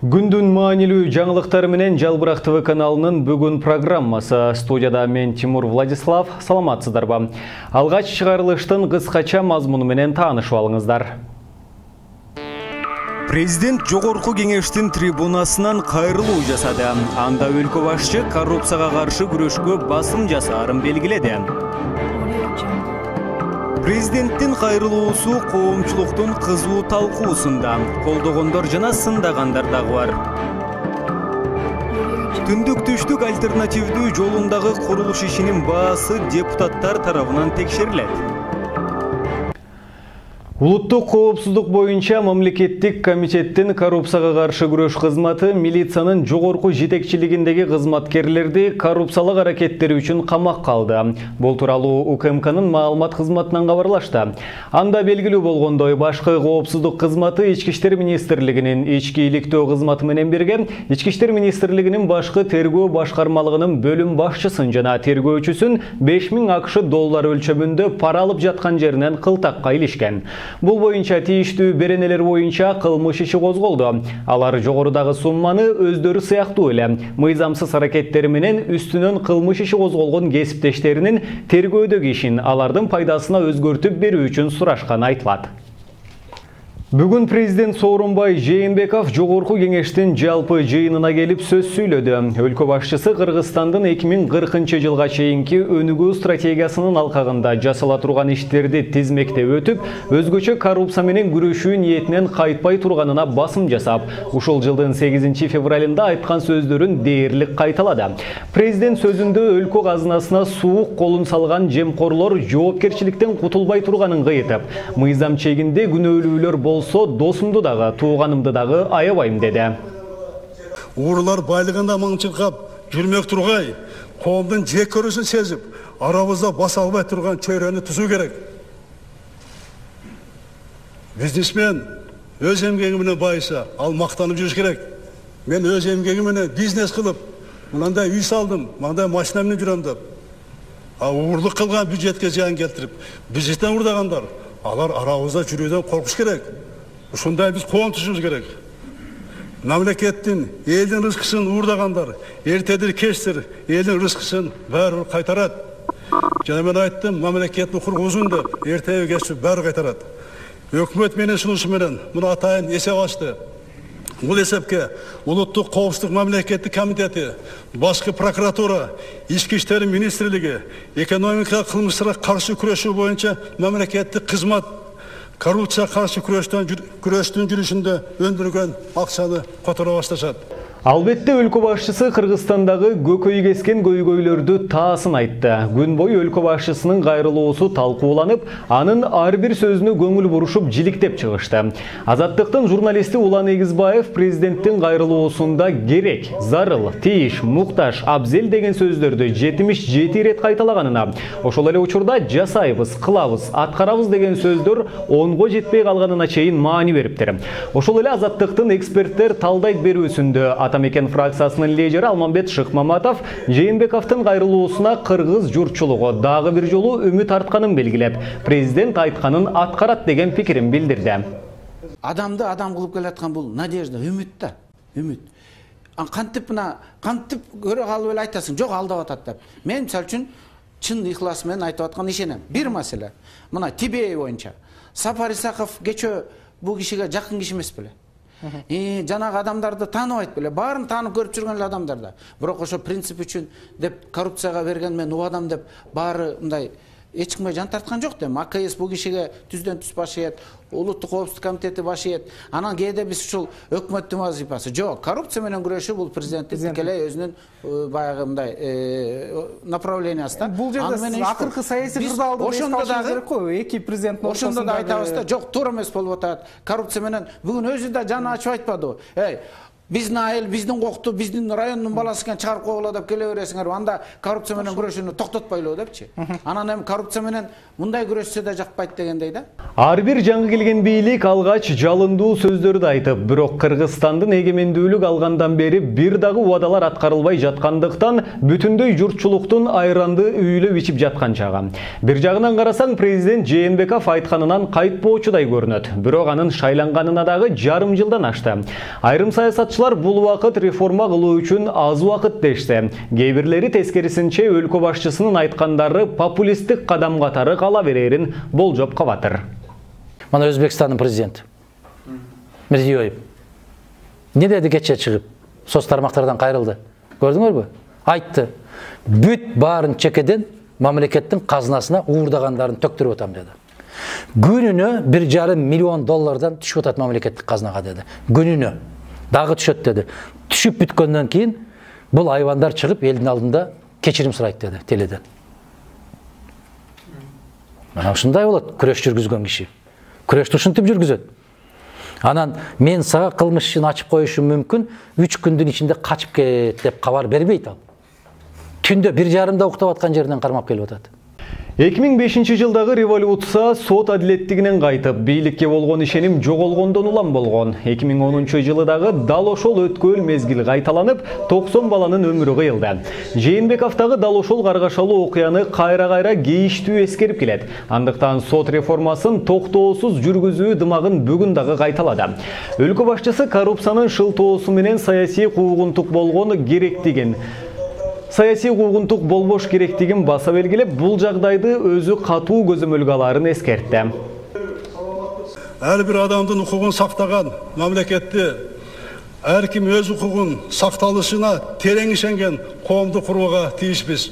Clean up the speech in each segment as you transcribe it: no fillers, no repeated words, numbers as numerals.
Күндүн маанилүү жаңылыктары менен Жалбырак ТВ каналынын бүгүн программасы. Студияда мен Тимур Владислав. Саламатсыздарбы? Алгач чыгарылыштын кыскача мазмуну менен таанышып алыңыздар. Президент жогорку кеңештин трибунасынан кайрылуу жасады. Анда өлкө башчы коррупцияга каршы күрөшкө басым жасаарын белгиледи. Президенттин кайрылуусу коомчулуктун кызуу талкуусунда, колдогондор жана сындагандар дагы бар. Түндүк түштүк альтернативдүү жолундагы курулуш ишинин баасы депутаттар тарабынан текшерилет. Улуттук коопсуздук боюнча мамлекеттик комитеттин коррупцияга каршы күрөш кызматы милициянын жогорку жетекчилигиндеги кызматкерлерди коррупциялык аракеттери үчүн камакка алды. Бул тууралуу УКМКнын маалымат кызматынан кабарлашты. Анда белгилүү болгондой, башкы коопсуздук кызматы Ички иштер министрлигинин ички иликтөө кызматы менен бирге Ички иштер министрлигинин башкы тергөө башкармалыгынын бөлүм башчысын жана тергөөчүсүн 5000 АКШ доллары өлчөмүндө пара алып жаткан жеринен кылтакка илишкен. Бул боюнча тийиштүү беренелер боюнча кылмыш иши козголду. Алар жогорудагы сумманы өздөрү сыяктуу эле мыйзамсыз аракеттери менен үстүнөн кылмыш иши козголгон кесиптештеринин тергөөдөгү ишин алардын пайдасына өзгөртүп берүү үчүн сурашканы айтылат. Бүгүн президент Сооронбай Жээнбеков жогорку кеңештин жалпы жыйынына келип сөз сүйлөдү. Өлкө башчысы Кыргызстандын 2040-жылга чейинки өнүгүү стратегиясынын алкагында жасала турган иштерди тизмектеп өтүп, өзгөчө коррупция менен күрөшүү ниетинен кайтпай турганына басым жасап, ушул жылдын 8 февралында айткан сөздөрүн дээрлик кайталады. Президент сөзүндө өлкө казынасына суук колун салган жемкорлор жоопкерчиликтен кутулбай турганын кыйытып, мыйзам чегинде күнөөлүүлөр болсо досумду дагы, тууганымды дагы аябайм деди. Уурулар байлыгында маңчылкап жүрмөк тургай, коомдун жек көрүүсүн сезип, арабызда баса албай турган чөйрөнү түзүү керек. Бизнесмен өз эмгеги менен байыса, ал мактанып жүрүш керек. Мен өз эмгеги менен бизнес кылып, мындай үй салдым, мындай машина менен жүрөм деп. Уурулук кылган бюджетке зыян келтирип, бюджеттен урдагандар, алар арабызда жүрүүдөн коркуш керек. Ушундай биз коом түзүшүбүз керек. Мамлекеттин, элдин рызкысын уурдагандар, эртедир кечтир элдин рызкысын баары кайтарат. Жана мен айттым, мамлекеттин кургузун деп, эртеби кечти баары кайтарат. Өкмөт менен сунушу менен муну атайын эсеп ачты. Бул эсепке Улуттук коопсуздук мамлекеттик комитети, башкы прокуратура, Ички иштер министрлиги, экономика кылмыштарга каршы күрөшүү боюнча мамлекеттик кызмат коррупцияга каршы күрөштүн жүрүшүндө өндүргөн акчаны которо башташат. Албетте өлкө башчысы Кыргызстандагы көкөй кескен көйгөйлөрдү таасын айтты. Күн бою өлкө башчысынын кайрылуусу талкууланып, анын ар бир сөзүнө көңүл бурушуп жиликтеп чыгышты. Азаттыктын журналисти Улан Эгизбаев президенттин кайрылуусунда керек, зарыл, тийиш, муктаж, абзел деген сөздөрдү 77 ирет кайталаганына, ошол эле учурда жасайбыз, кылабыз, аткарабыз деген сөздөр 10го жетпей калганына чейин маани бериптир. Ошол эле Азаттыктын эксперттер талдайт берүүсүндө Атамекен фракциясынын лидери Алмамбет Шыкмаматов Жээнбековдун кайрылуусуна кыргыз журтчулугу дагы бир жолу үмүт артканын белгилеп, президент айтканын аткарат деген пикирин билдирди. Адамды адам кылып келаткан бул надежда, үмүт да, үмүт. Кантип көрө калып эле айтасың, жок алдап атат деп. Мен мисалы үчүн чын ыхлас менен айтып аткан ишенем. Бир маселе. Мына Тибей боюнча Сапар Исаков кечөө бул кишиге жакын киши эмес беле. Жанагы адамдарды тааныбайт беле, баарын таанып көрүп жүргөн эле адамдар да. Бирок ошо принцип үчүн деп коррупцияга берген мен убадам деп баары мындай эч кимге жан тарткан жок дейм. АКС бул кишиге түздөн түз баш ийет, Улуттук коопсуздук комитети баш ийет. Анан кээде биз ушул өкмөттүн вазифасы жок. Коррупция менен күрөшүү бул президенттин тикелей өзүнүн баягы мындай направлениясы. Бул жерде акыркы саясий кырдаалды керек го, эки президенттин ошондо да айтабыз да, жок, туура эмес болуп атат. Коррупция менен бүгүн өзү да жаны ачып айтпадыбы? Биздин айыл, биздин кокту, биздин райондун баласы экен чыгарып койгула деп келе бересиңер. Анда коррупция менен күрөшүүнү токтотпойлу депчи. Анан эми коррупция менен мындай күрөшсө да жакпайт дегендей да. Ар бир жаңы келген бийлик алгач жалындуу сөздөрдү айтып, бирок Кыргызстандын эгемендүүлүк алгандан бери бир дагы убадалар аткарылбай жаткандыктан бүтүндөй журтчулуктун айранды үйлөп ичип жаткан чагы. Бир жагынан карасаң, президент Жээнбеков айтканынан кайтпоочудай көрүнөт. Бирок анын шайланганына дагы жарым жылдан ашты. Айрым саясатчы Саясатчылар бул убакыт реформа кылуу үчүн аз убакыт дешсе, кээ бирлери тескерисинче өлкө башчысынын айткандары популисттик кадам катары кала берерин болжоп калатыр. Мана Өзбекстандын президенти Мирзиёев не деди кече чыгып, соц тармактардан кайрылды. Көрдүңөрбү? Айтты. Бүт баарын чекеден мамлекеттин казынасына уурдагандарын төктүрүп атам деди. Күнүнө 1,5 миллион доллардан түшүп атат мамлекеттик казынага деди. Күнүнө дагы түшөт деди. Түшүп бүткөндөн кийин бул айвандар чыгып элдин алдында кечирим сурайт деди теледен. Мына ушундай болот күрөш жүргүзгөн киши. Күрөштү ушинтип жүргүзөт. Анан мен сага кылмыш ишин ачып коюшум мүмкүн, 3 күндүн ичинде качып кет деп кабар бербейт ал. Түндө 1,5 уктап аткан жеринен кармап келип атат. 2005 жылдагы революция сот адилеттигинен кайтып, бийликке болгон ишеним жоголгондон улам болгон. 2010 жылы дагы дал ошол өткөл мезгил кайталанып, 90 баланын өмүрү кыйылды. Жээнбековдагы дал ошол каргашалуу окуяны кайра-кайра кейиштүү эскерип келет. Андыктан сот реформасын токтоосуз жүргүзүү дымагын бүгүн дагы кайталады. Өлкө башчысы коррупциянын шылтоосу менен саясий куугунтук болгон керектигин саясий куугунтук болбош керектигин баса белгилеп, бул жагдайды өзү катуу көзөмөлгө аларын эскертти. Ар бир адамдын укугун сактаган мамлекетти ар ким өз укугун сакталышына терең ишенген коомду курууга тийишпиз.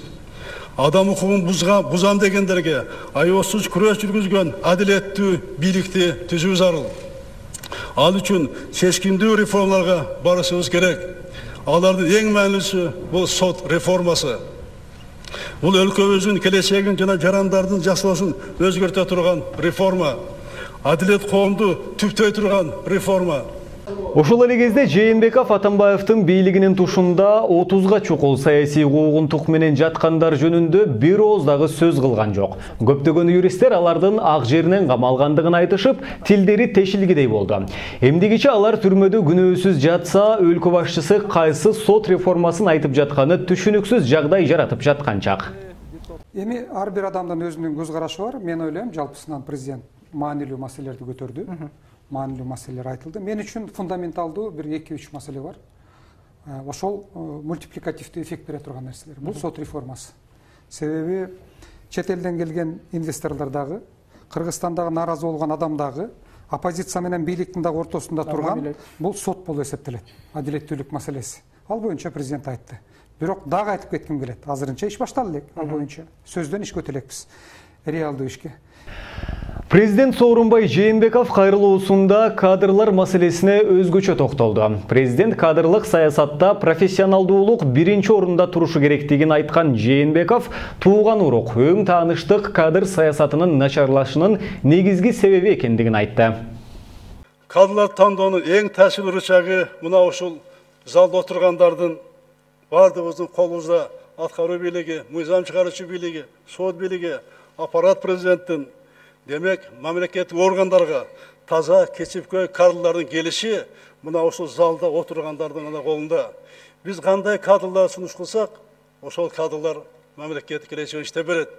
Адам укугун бузам дегендерге аеосуз күрөш жүргүзгөн адилеттүү бийликти түзүү зарыл. Ал үчүн чечкиндүү реформаларга барышыбыз керек. Алардын эң маанилүүсү бул сот реформасы. Бул өлкөбүздүн келечегин жана жарандардын жашоосун өзгөртө турган реформа. Адилет коомду түптөй турган реформа. Ошол эле кезде Жээнбеков Атамбаевдин бийлигинин тушунда 30га чукул саясий куугунтук менен жаткандар жөнүндө бир ооз дагы сөз кылган жок. Көптөгөн юристтер алардын ак жеринен камалгандыгын айтышып, тилдери тешилгидей болду. Эмдигиче алар түрмөдө күнөөсүз жатса, өлкө башчысы кайсы сот реформасын айтып жатканы түшүнүксүз жагдай жаратып жатканчак. Эми ар бир адамдын өзүнүн көз карашы бар. Мен ойлойм, жалпысынан президент маанилүү маселелерди көтөрдү. Маанилүү маселелер айтылды. Мен үчүн фундаменталдуу бир 2-3 маселе бар. Ошол мультипликативдүү эффект бере турган нерселер. Бул сот реформасы. Себеби чет элден келген инвесторлор дагы, Кыргызстандагы нааразы болгон адам дагы, оппозиция менен бийликтин дагы ортосунда турган бул сот болуп эсептелет. Адилеттүүлүк маселеси. Ал боюнча президент айтты. Бирок дагы айтып кетким келет. Азырынча иш башталды элек. Ал боюнча сөздөн ишке өтө элекпиз. Реалдуу ишке. Президент Сооронбай Жээнбеков кайрылуусунда кадрлар маселесине өзгөчө токтолду. Президент кадрлык саясатта профессионалдуулук биринчи орунда турушу керектигин айткан Жээнбеков тууган урук, өң тааныштык кадр саясатынын начарлашынын негизги себеби экендигин айтты. Кадрлар тандоонун эң таасирлүү рычагы мына ушул залда отургандардын бардыгыбыздын колубузда аткаруу бийлиги, мыйзам чыгаруучу бийлиги, сот бийлиги, аппарат президенттин, демек мамлекеттик органдарга таза кесипкөй кадрлардын келиши мына ушул залда отургандардын гана колунда. Биз кандай кадрлар сунуш кылсак, ошол кадрлар мамлекеттик келечегин иштеп берет.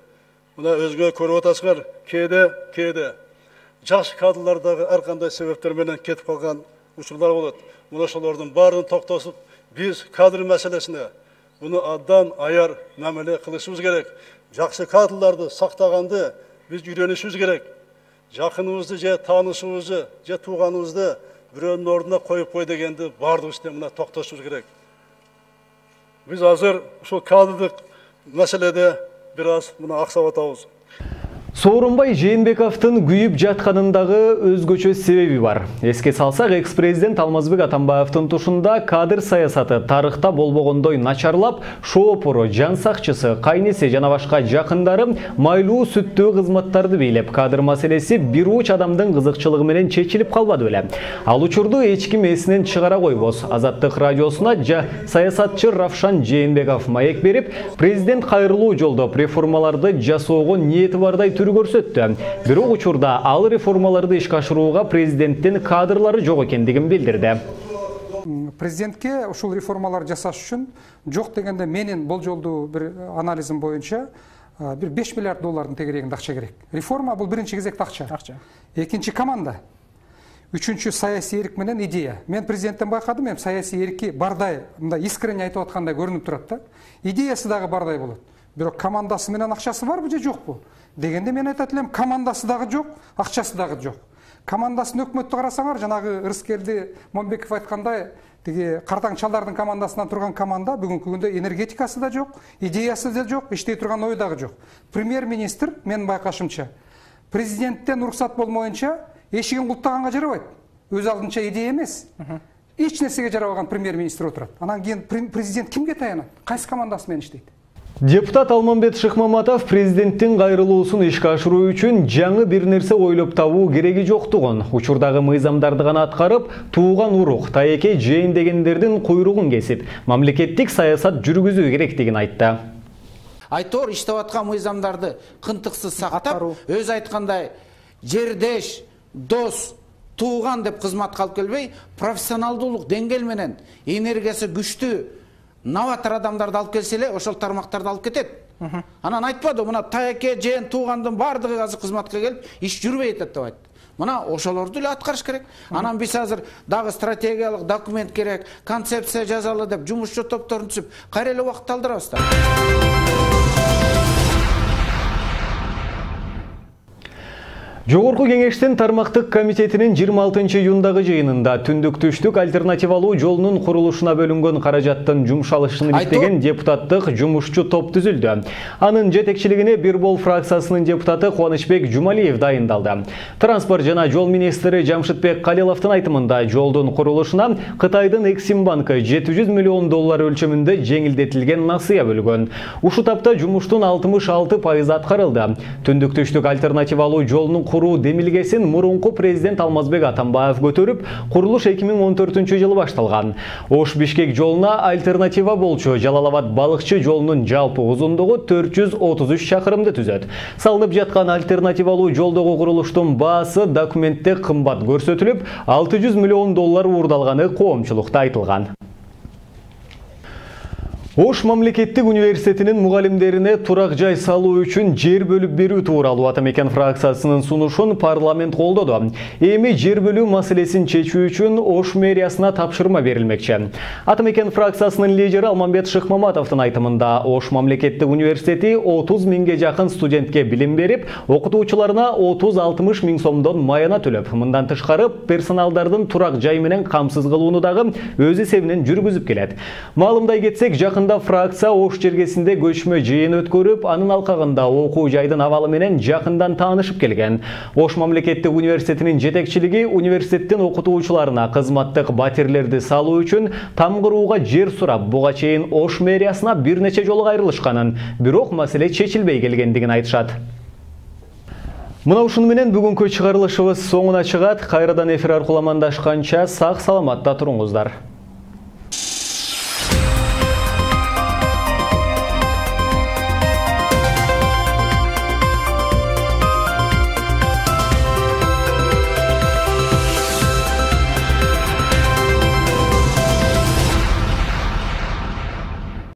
Мына өзгө көрүп атасыңар, кээде жаш кадрлар дагы ар кандай себептер менен кетип калган учурлар болот. Мына ошолордун баарын токтосуп, биз кадр маселесине буну абдан аяр мамиле кылышыбыз керек. Жакшы кадрларды сактаганды биз үйрөнүшүбүз керек. Жакыныбызды же таанышыбызды, же тууганыбызды бирөөнүн ордуна коюп кой дегенди баардыгыбыз мына токтошубуз керек. Биз азыр ушул кадрдык маселеде бир аз мына аксап атабыз. Сооронбай Жээнбековдун күйүп жатканындагы өзгөчө себеби бар. Эске салсак, экс-президент Алмазбек Атамбаевдин тушунда кадр саясаты тарыхта болбогондой начарлап, шоопору, жан сакчысы, кайнеси жана башка жакындары майлуу сүттүү кызматтарды бийлеп, кадр маселеси бир уч адамдын кызыкчылыгы менен чечилип калбады беле. Ал учурду эч ким эсинен чыгара койбос. Азаттык радиосуна саясатчы Равшан Жээнбеков маек берип, президент кайрылуу жолдо реформаларды жасоого ниети бардай көрсөттү. Бирок учурда ал реформаларды ишке ашырууга президенттин кадрлары жок экендигин билдирди. Президентке ушул реформалар жасаш үчүн жок дегенде менин болжолдуу бир анализим боюнча бир 5 миллиард доллардын тегерегинде акча керек. Реформа бул биринчи кезекте акча. Экинчи команда. үчүнчү саясий эрк менен идея. Мен президенттен байкадым, эми саясий эрки бардай, мындай искренне айтып аткандай көрүнүп турат да. Идеясы дагы бардай болот. Бирок командасы менен акчасы барбы же жокпу дегенде мен айтат элем, командасы дагы жок, акчасы дагы жок. Командасын өкмөттү карасаңар, жанагы Рыскелди Момбеков айткандай, тиги картаң чалдардын командасынан турган команда бүгүнкү күндө энергетикасы да жок, идеясы да жок, иштей турган ой дагы жок. Премьер-министр менин байкашымча президенттен уруксат болмоюнча эшигин култаганга жарабайт. Өз алдынча идея эмес. Эч нерсеге жарабаган премьер-министр отурат. Анан кийин президент кимге таянат? Кайсы командасы менен иштейт? Депутат Алмамбет Шыкмаматов президенттин кайрылуусун ишке ашыруу үчүн жаңы бир нерсе ойлоп табуу кереги жоктугун, учурдагы мыйзамдарды гана аткарып, тууган урук, таекей жээн дегендердин куйругун кесип, мамлекеттик саясат жүргүзүү керектигин айтты. Айтор иштеп аткан мыйзамдарды кынтыксыз сактап, өз айткандай жердеш, дос, тууган деп кызматка алып келбей, профессионалдуулук деңгээл менен энергиясы күчтүү новатор адамдарды алып келсе эле, ошол тармактарды алып кетет. Анан айтпады, мына таеке, жээн, туугандын баардыгы азыр кызматка келип, иш жүрбөй атат деп айтты. Мына ошолорду эле аткарыш керек. Анан биз азыр дагы стратегиялык документ керек, концепция жазалы деп жумушчу топторун түзүп, кайра эле убакыт алдырабыз да. Жогорку кеңештин тармактык комитетинин 26 июндагы жыйынында түндүк-түштүк альтернативалуу жолунун курулушуна бөлүнгөн каражаттын жумшалышын иштеген депутаттык жумушчу топ түзүлдү. Анын жетекчилигине Бир Бол фракциясынын депутаты Кубанычбек Жумалиев дайындалды. Транспорт жана жол министри Жамшытбек Калиловдун айтымында жолдун курулушуна Кытайдын Эксимбанкы $700 миллион өлчөмүндө жеңилдетилген насыя бөлгөн. Ушул тапта жумуштун 66% аткарылды. Түндүк-түштүк альтернативалуу жолунун куруу демилгесин мурунку президент Алмазбек Атамбаев көтөрүп, курулуш 2014-жылы башталган. Ош-Бишкек жолуна альтернатива болчу Жалал-Абад-Балыкчы жолунун жалпы узундугу 433 чакырымды түзөт. Салынып жаткан альтернативалуу жолдогу курулуштун баасы документте кымбат көрсөтүлүп, $600 миллион уурдалганы коомчулукта айтылган. Ош мамлекеттик университетинин мугалимдерине турак жай салуу үчүн жер бөлүп берүү тууралуу Атамекен фракциясынын сунушун парламент колдоду. Эми жер бөлүү маселесин чечүү үчүн Ош мэриясына тапшырма берилмекчи. Атамекен фракциясынын лидери Алмамбет Шыкмаматовдун айтымында Ош мамлекеттик университети 30 миңге жакын студентке билим берип, окутуучуларына 30-60 миң сомдон маяна төлөп, мындан тышкары персоналдардын турак жай менен камсыз кылууну дагы өз эсебинен жүргүзүп келет. Маалымдай кетсек, жакын фракция Ош жергесинде көчмө жыйын өткөрүп, анын алкагында окуу жайдын абалы менен жакындан таанышып келген. Ош мамлекеттик университетинин жетекчилиги университеттин окутуучуларына кызматтык батирлерди салуу үчүн там курууга жер сурап, буга чейин Ош мэриясына бир нече жолу кайрылышканын, бирок маселе чечилбей келгендигин айтышат. Мына ушуну менен бүгүнкү чыгарылышыбыз соңуна чыгат. Кайрадан эфир аркылуу амандашканча сак саламатта туруңуздар.